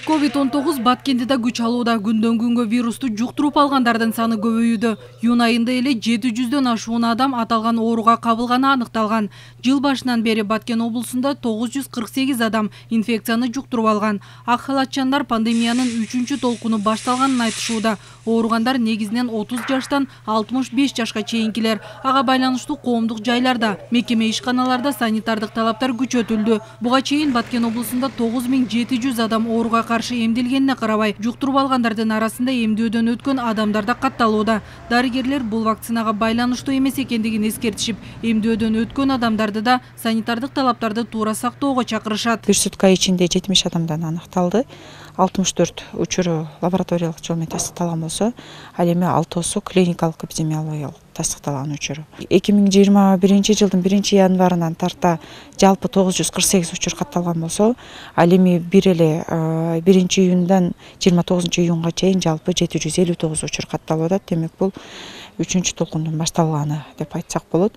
COVID-19 Баткенде да күч алууда. Күндөн күнгө вирусту жуктуруп алгандардын саны көбөйүүдө. Июнь айында эле 700дөн ашуун адам аталган ооруга кабылганы аныкталган. Жыл башынан бери Баткен облусунда 948 адам инфекцияны жуктуруп алган. Ак халатчандар пандемиянын 3-чү толкуну башталганын айтышууда. Ооругандар негизинен 30 жаштан 65 жашка чейинкилер. Ага байланыштуу коомдук жайларда, мекеме ишканаларда санитардык талаптар күчөтүлдү. Буга чейин Баткен облусунда 9700 адам ооруга каршы эмделгенине карабай, жуктуруп алгандардын арасында эмдөөдөн өткөн адамдар да катталууда. Дарыгерлер бул вакцинага байланыштуу эмес экендигин эскертишип, эмдөөдөн өткөн адамдарды да санитардык талаптарды туура сактоого чакырышат. Бир сутка ичинде 70 адамдан аныкталды. 64 учуру лабораториялык жол менен тастыкталган болсо, ал эми 6су клиникалык эпидемиологиялык тастыкталган учуру. 2021 жылдын 1-январынан тарта жалпы 948 учур катталган болсо, ал эми бир эле 1-июндан 29-июнга чейин жалпы 759 учур катталып атат. Демек бул 3-чү толкундун башталганы деп айтсак болот.